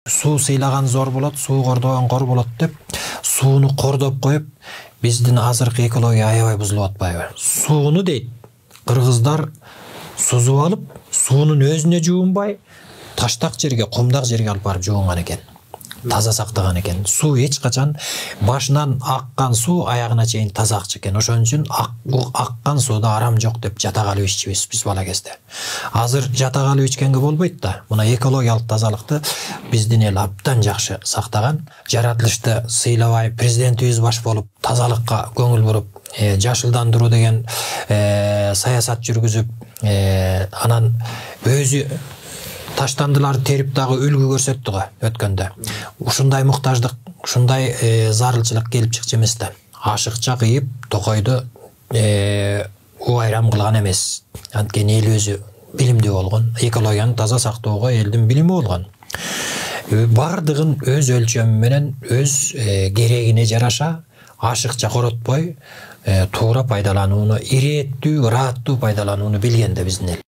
Суу сыйлаган зор болот, суу кордогон кор болот деп сууну кордоп коюп, биздин азыркы экология аябай бузулуп атпайбы? Сууну дейт, кыргыздар сузуп алып, суунун өзүнө жуунбай, таштак жерге, кумдак жерге алып барып жуунган экен. Таза сактаган экен. Суу эч качан башынан аккан суу аягына чейин таза акчы экен. Ошон үчүн аккан сууда арам жок деп жатагалып иччүбүз биз бала кезде. Азыр жатагалып ичкенге болбойт да. Мына экологиялык тазалыкты биздин эл абдан жакшы сактаган. Жаратылышты сыйлабай, президентибиз баш болуп тазалыкка көңүл буруп, жашылдандыруу деген саясат жүргүзүп, анан өзү таштандыларды терип дагы үлгү көрсөттү го өткөндө. Ушундай муктаждык, ушундай зарылчылык келип чыкчу эмес да. Ашыкча кыйып, токойду убайрам кылган эмес. Анткени эл өзү билимдүү болгон, экологияны таза сактоого элдин билими болгон. Бардыгын өз өлчөмү менен, өз керегине жараша ашыкча коротпой, туура пайдаланууну, ирээттүү, ырааттуу пайдаланууну билген да биздин эл.